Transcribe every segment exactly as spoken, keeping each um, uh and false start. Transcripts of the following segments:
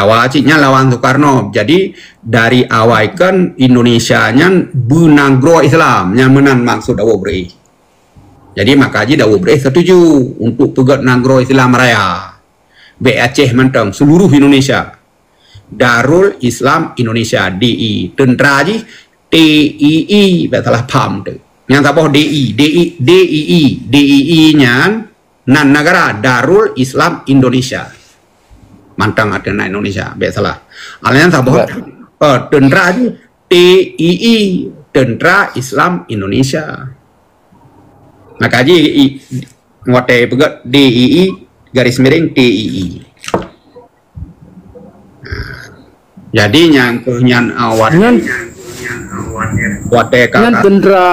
Awai cit nyan lawan Soekarno. Jadi, dari awai kan Indonesia nyan beunanggroe Islam, nyan meunan maksud Daud Breh. Jadi, maka jih Daud Breh setuju untuk peugét nanggroe Islam raya. Bék Aceh mantong, seluruh Indonesia. Darul Islam Indonesia, D I. Teuntra jih T I I, bék salah paham tu. Nyang saboh D I, D I, D I I, D I I nyan nan negara Darul Islam Indonesia. Mantong arti nan Indonesia, bék salah. Alah nyan saboh, eh, teuntra jih T I I, Teuntra Islam Indonesia. Maka jih i, watée peugét D I I garis miring T I I. Jadi nyang keuh nyan awat nyan, watée nyan kakak teuntra,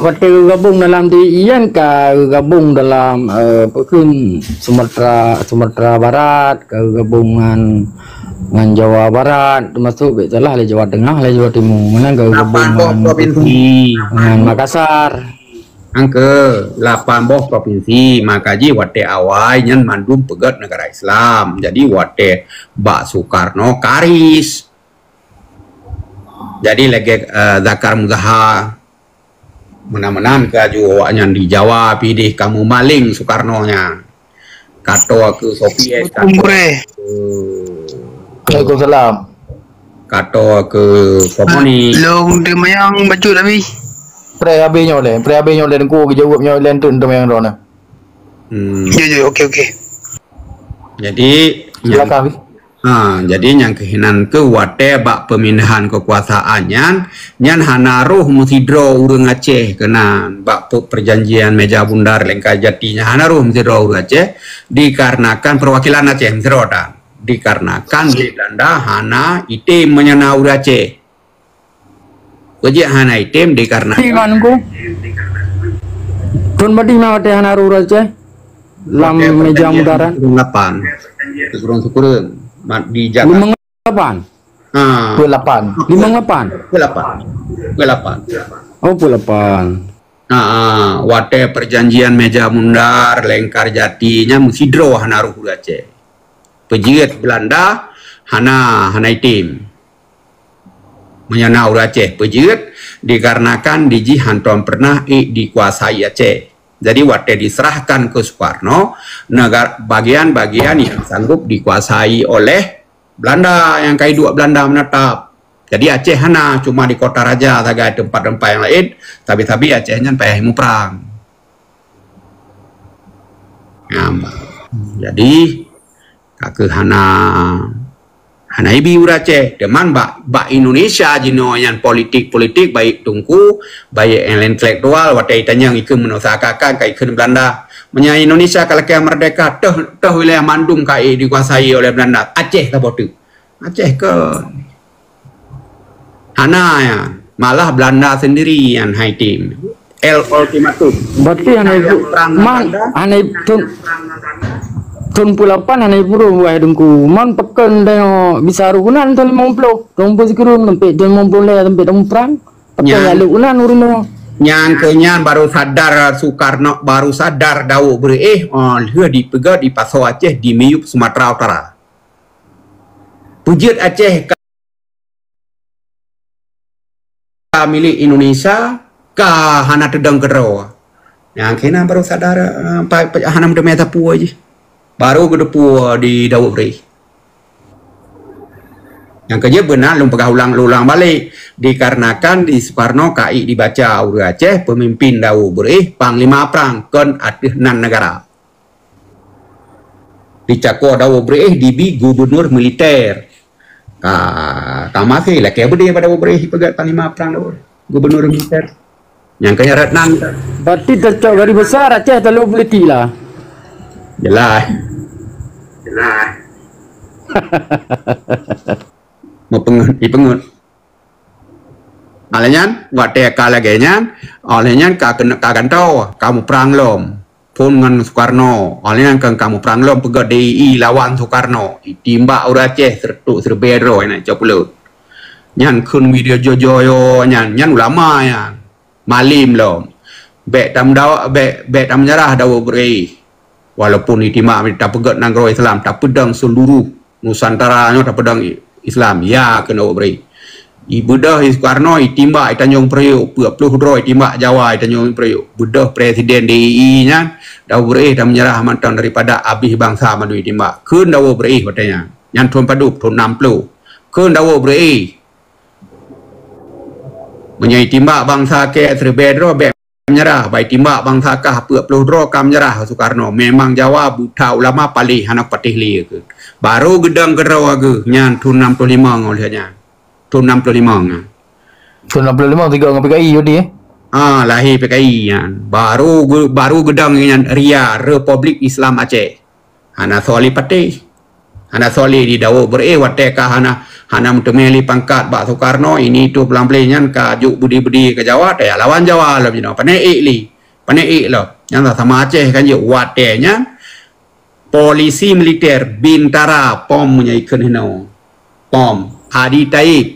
watée geugabong dalam D I I nyan ka geugabong dalam, eh, apa kheun, Sumatera, Sumatera Barat, ka geugabong ngan, ngan Jawa Barat, teumasok bék salah lé Jawa Tengah, lé Jawa Timu, meunan ka geugabong ngan, apa kheun, ngan Makassar. Angke lapan boh provinsi, maka jih watée awai nyan mandum peugét negara Islam. Jadi watée bak Soekarno karis. Jadi lagée, eh, Zakar Muzahar, meunan-meunan keu aju awaknyan di Jawa pideh kamoe maling Soekarno nyan. Kato keu Soviet, kato keu Waalaikumsalam. Kato keu komunis. Long teumayang bacut habis. Pre habis nyoe lé, pre habis nyoe lé, Teungku geujaweueb nyoe lé enteuk teumayang droeneuh. Hmm. Jujur, oke, oke. Jadi, silakan, Abi. Ha, jadi nyang keuh inan keuh watée bak peumindahan keukuasaan nyan, nyan hana roh meusidroe ureuëng Aceh keunan bak pe-, perjanjian Meja Bundar Lengkar Jati nyan hana roh meusidroe ureuëng Aceh dikarenakan perwakilan Aceh meusidroe tan. Dikarenakan di Belanda hana item meunyoe na ureuëng Aceh. Peue jeuet hana item dikarenakan. Iman ku. Thon padum watée hana roh ureuëng Aceh lam Meja Bundar. Lapan. Syukurun-syukurun. Mat di Jakarta. Limong lapan. Ha. Peuet lapan. Limong lapan. Peuet lapan. Peuet lapan. Oh, peuet lapan. Ha, ha. Watée perjanjian Meja Bundar, Lengkar Jati nyan meusidroe hana roh ureuëng Aceh. Peue jeuet Belanda hana, hana item. Meunyoe na ureuëng Aceh peue jeuet, dikarenakan di jih hántom peureunah ék dikuasai Aceh. Jadi watée diserahkan keu Soekarno, negar-, bagian-bagian nyang sanggup dikuasai oleh Belanda nyang ka iduek Belanda meunatap. Jadi Aceh hana, cuma di Kota Raja sagai, teumpat-teumpat nyang laén, tapi-tapi Aceh nyan payah muprang. Nyam. Jadi, ka keuh hana, hana ibi ureuëng Aceh. Teuma bak, bak Indonesia jinoe nyan politik-politik, baik teungku, baik intelektual, watée itanyong ikheun meunoe seakan-akan ka ikheun Belanda. Meunyoe Indonesia ka lakée merdeka, toh, toh wilayah mandum ka dikuasai oleh Belanda. Aceh saboh teuk. Aceh kon. Hana nyan, malah Belanda sendiri nyang hai tem. El ultimatum. Berarti hana ibu-, perang man, Belanda. Hana i-, thon, thon peuet lapan hana ipuruh wahai Teungku. Man pakon tanyoe bisa roh keunan thon limong ploh, thon peuet sikureueng sampai thon limong ploh lhée sampai thon perang. Pakon nyan, nyang lheueh keunan ureuëng nyoe. Nyang keu nyan baru sadar Soekarno, baru sadar Daud Breh, oh, lheueh dipeugét di Pasoe Aceh di miyueb Sumatera Utara. Peue jeuet Aceh ka, ka milék Indonesia, ka hana teudong keudroe. Nyang keunan baru sadar, eh, pa, pa, hana meuteumé sapeue jih. Baru geuteupeue di Daud Breh. Nyang keujeuet beuna lôn peugah ulang-ulang balek, dikarenakan di Soekarno ka ék dibaca ureuëng Aceh, peumimpin Daud Breh, panglima prang kon ateueh nan negara. Di Cako Daud Breh dibi gubernur militer. Ka, ka maté lakée beudé bak Daud Breh peugét panglima prang Daud Breh. Gubernur militer. Nyang keu nyan rot nan. Berarti teucok garis besar Aceh talu politik lah. Jelas. Jelas. Meupeungeut, ipeungeut. Alah nyan, watée ka lagée nyan, alah nyan ka keuneuk ka gantoe, ka muprang lom. Phon ngon Soekarno, alah nyan ka, ka muprang lom peugét D I I lawan Soekarno. Itimbak ureuëng Aceh seureutôk siribée droe na cok pulo. Nyan kheun media jojo nyan, nyan ulama nyan. Malem lom. Bék tameudawa-, bék, bék tameunyeurah Daud Breh. Walaupun itimbak tapeugét nanggroe Islam, tapeudong seuluruh Nusantara nyoe tapeudong Islam, ya keunoe bri. Ibeudôh Soekarno, itimbak i Tanjung Priok, peuet ploh droe itimbak Jawa i Tanjung Priok. Beudôh presiden D I I nyan, Daud Beureu'éh dan menyerah mantong daripada abéh bansa mandum itimbak. Kheun Daud Beureu'éh watée nyan. Nyan thon padub, thon enam ploh. Kheun Daud Beureu'éh. Meunyoe itimbak bansa keu siribée droe, bék menyerah, bai timbak bansa kah peuet ploh droe ka menyerah Soekarno. Memang Jawa buta ulama paléh hana patéh lé keu. Baru geudong keudroe geuh nyan thon enam puluh lima ngon lheueh nyan. Thon enam puluh lima nyan. Thon enam puluh lima tiga ngon P K I jadi eh. Ha, lahé P K I nyan. Baru ge- baru geudong nyan ria Republik Islam Aceh. Hana soe lé patéh. Hana soe lé di Daud Beureu'éh watée ka hana hana meuteumé lé pangkat bak Soekarno, ini tu peulampléh nyan ka jok budi-budi ke Jawa, taya lawan Jawa lom jinoe. Pané ék lé. Pané ék lom. Nyan sama Aceh kan jeuet watée nyan polisi militer bintara pom meunyoe ikheun hinoe. Pom Adi Taib.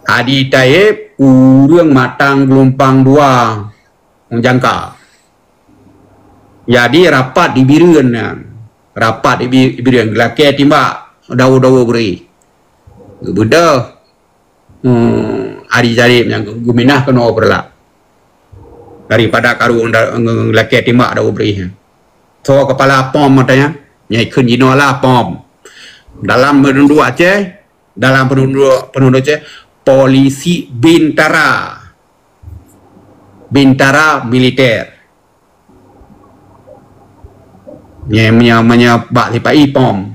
Adi Taib ureuëng matang geulumpang dua jangka. Jadi rapat di Bireuen nyan. Rapat di Bi- Bireuen geulakée timbak dawa-dawa bri. Geubeudôh hmm, Adi Taib nyang geuminah keunoe Peureulak. Daripada karu ngeulakée timbak dawa bri nyan. Soe kepala pom mata nyan? Nyai kheun jinoe lah pom. Dalam peununduk Aceh, dalam peununduk peununduk Aceh, polisi bintara. Bintara militer. Nyai meunyoe meunyoe bak sipa-i pom.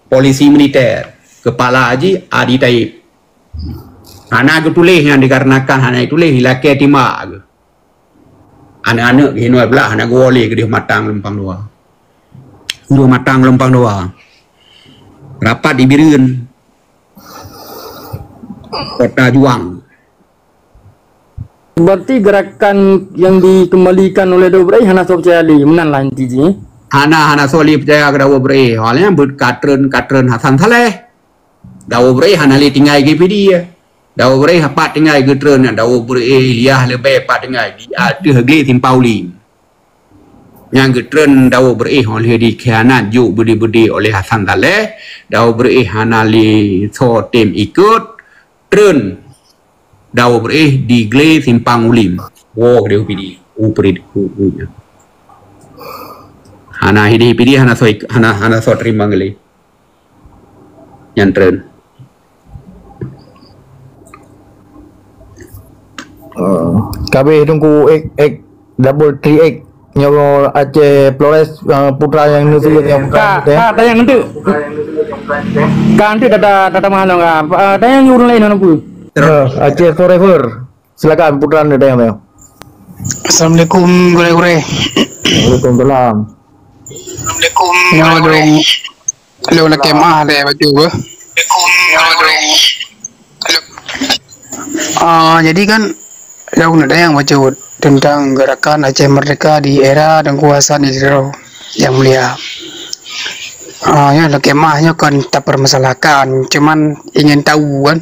Polisi militer. Kepala jih Adi Taib. Hana geutuléh nyan dikarenakan hana geutuléh, ilakée timbak geuh. Aneuk-aneuk geuh hinoe blah hana geuwoe lé keudeh matang lumpang dua. Keudeh matang lumpang dua. Rapat di Bireuen. Kota Juang. Berarti gerakan yang dikembalikan oleh Daud Ibrahim hana soe percaya lagi, meunan lah inti jih. Hana hana soe lé percaya keu Daud Ibrahim. Awalnya buet katreun-katreun Hasan Saleh. Daud Ibrahim hana lé tinggai GPD. Daud Ibrahim pat tinggai geutreun, Daud Ibrahim Ilyas leubeh pat tinggai di ateueh glé Simpang Ulim. Nyang geutreun Daud Ibrahim oleh dikhianat jok budi-budi oleh Hasan Saleh. Daud Ibrahim hana lé soe tem ikot treun Daud Ibrahim di glé Simpang Ulim. Wo keudeh GPD. U prit u u. Hana hidih GPD hana soe hana hana soe terima ngelih. Nyan treun. Kabeh Teungku X X double three X nyoe Aceh Flores, uh, putra nyang neuseuet nyang ka ka tayang nanti. Ka nanti tata tata mahal ka. Uh, tayang urang lain hana pun. Uh, Aceh Forever. Silakan putra anda tayang tayang. Assalamualaikum gurée-gurée. Waalaikumsalam. Assalamualaikum gurée-gurée. Lôn lakée meu'ah lé bacut beuh. Ah, jadi kan lôn neudayang bacut teuntang gerakan Aceh Merdeka di era Teungku Hasan di Tiro yang mulia. Ah, ya lakée meu'ah nyoe kon tapeurmasalahkan, cuman ingin tahu kan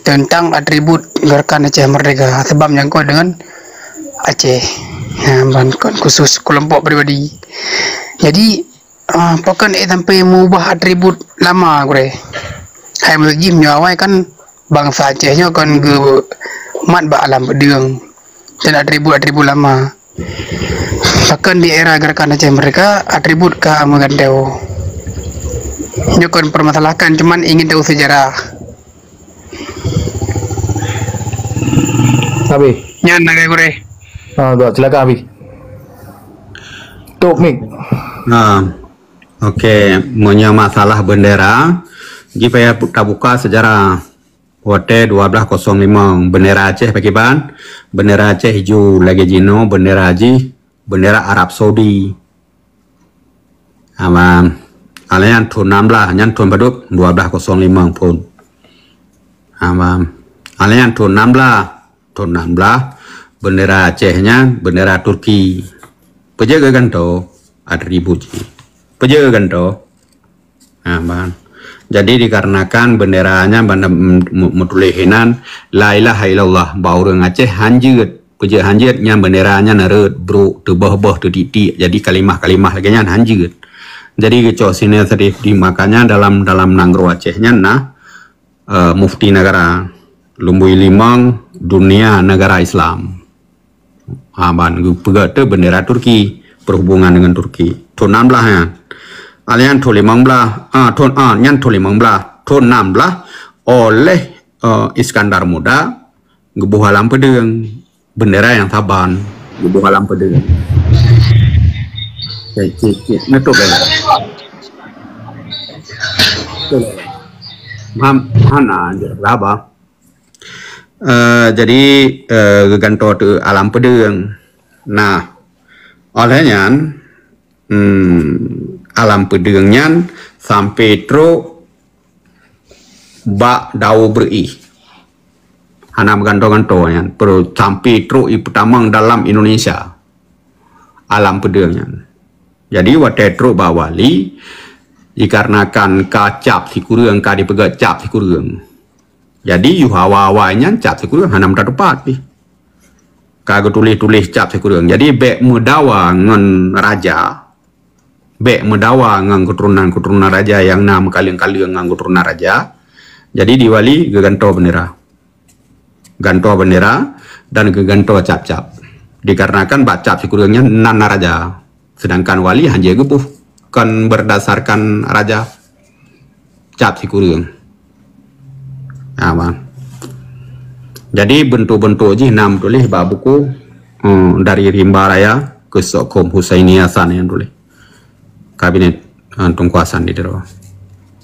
teuntang atribut gerakan Aceh Merdeka sebab nyangkot dengan Aceh. Ha, ban kon khusus kelompok pribadi. Jadi, Ah, pakon ék sampai meubah atribut lama gurée? Hai meuseuji meunyoe awai kan bansa Aceh nyoe kon geumat bak alam peudeueng dan atribut-atribut lama. Pakon di era gerakan Aceh Merdeka atribut ka meugantoe. Nyoe kon permasalahkan cuman ingin tahu sejarah. Habis. Nyan lagée gurée. Ah, silakan habis. Tok mik. Nah, oke, meunyoe masalah bendera, jih payah bu- tabuka sejarah. Watée dua belas kosong lima, bendera Aceh pakiban, bendera Aceh ijo lagée jinoe, bendera jih, bendera Arab Saudi. Aman. Alayan thon enam belas, nyan thon padub dua belas kosong lima phon. Aman. Alayan thon enam belas, thon enam belas, bendera Aceh nyan bendera Turki. Peue jeuet geugantoe? Atribut jih. Peue jeuet geugantoe? Ha, ban. Jadi dikarenakan bendera nyan banda meutuléh hinan la ilaha illallah, bak ureuëng Aceh hanjeuet. Peue jeuet hanjeuet? Nyan bendera nyan reuet, brok, teuboh-boh, teutik-tik. Jadi kalimah-kalimah lagée nyan hanjeuet. Jadi geucok Sinai Syarif di, makanya dalam, dalam nanggroe Aceh nyan na, eh, mufti negara, lumboi limong dunia negara Islam. Ha, ban geupeugah tu bendera Turki, perhubungan dengan Turki. Thon nam blah nyan. Alian thon limong blah, ah, thon, ah, nyan thon limong blah. Thon nam blah oleh, eh, Iskandar Muda geuboh alam peudeueng. Bendera nyang saban geuboh alam peudeueng. Cek, cek, cek. Neutôp lagi. Betul. Mam-, mana je lah, bah. Eh, jadi, eh, geugantoe teuk alam peudeueng. Nah, oleh nyan, hmm, alam peudeueng nyan sampai trok bak Daoe Breuih. Hana meugantoe-gantoe nyan, sampai trok i peutamong dalam Indonesia. Alam peudeueng nyan. Jadi, watèe trok bak wali, dikarenakan ka cap sikureueng, ka dipeugah cap sikureueng. Jadi, yoh awai-awai nyan cap sikureueng hana meutat-upat pih. Ka geutuléh-tuléh cap sikureueng. Jadi, bèk meudawa ngon raja, bèk meudawa ngon keuturonan-keuturonan raja nyang na meukaleng-kaleng ngon keuturonan raja. Jadi, di wali geugantoe bendera. Gantoe bendera dan geugantoe cap-cap. Dikarenakan bak cap sikureueng nyan nan na raja. Sedangkan wali hana geuboh, kon berdasarkan raja. Cap sikureueng. Ha, bang. Jadi, bentuk-bentuk jih na meutuléh bak buku, eh, dari Rimba Raya ke Sokkom Husaini Hasan nyang tuléh. Kabinet, eh, Teungku Hasan di Tiro.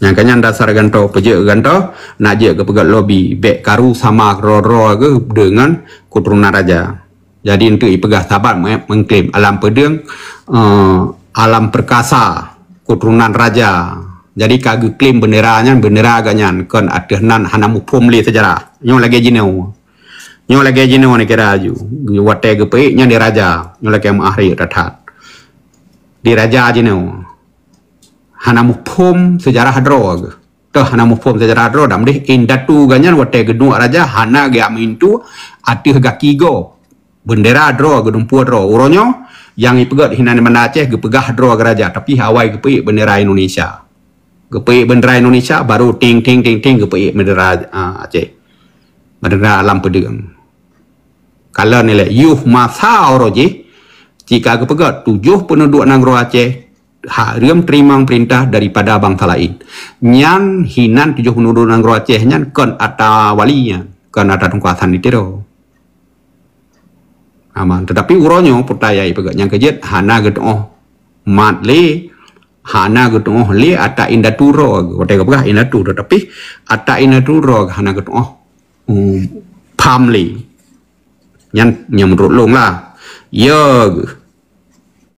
Nyang ka nyan dasar gantoe, peujeuet gantoe, nak jeuet keu peugét lobi, bèk karu sama keudroe-droe geuh deungon keuturonan raja. Jadi, enteuk ipeugah saban meuklém alam peudeueng, eh, alam perkasa, keuturonan raja. Jadi, ka geuklém bendera nyan, bendera geuh nyan kon ateueh nan hana muphom lé seujarah. Nyoe lagèe jinoe. Nyoe lagèe jinoe neukira aju. Watèe geupeuék nyan di raja. Nyoe lagèe meuah rayek that-that. Di raja jinoe. Hana muphom seujarah droe geuh. Toh hana muphom seujarah droe, dan deh indatu geuh nyan watèe geuduek raja hana geujak meuintu ateueh gaki gob. Bendera droe, geudumpue droe. Uroe nyoe, nyang ipeugét hinan di Banda Aceh geupeugah droe geuh raja, tapi awai geupeuék bendera Indonesia. Geupeuék bendera Indonesia, baru ting, ting, ting, ting geupeuék bendera, ah, Aceh. Bendera alam peudeueng. Kalon ilèe, yoh masa uroe jih, cit ka geupeugét tujoh peuneuduk nanggroe Aceh hareuem teurimong peurintah daripada bansa laén. Nyan hinan tujoh peuneuduk nanggroe Aceh nyan kon ata wali nyan, kon ata Teungku Hasan di Tiro. Aman. Tetapi uroe nyoe peue nyang ipeugét nyang keujeuet hana geutu'oh mat lé, hana geutu'oh lé ata indatu droe. Watèe geupeugah indatu, tetapi ata indatu droe hana geutu'oh, um, pham lé. Nyan, nyan meunurot lôn lah. Ya geuh.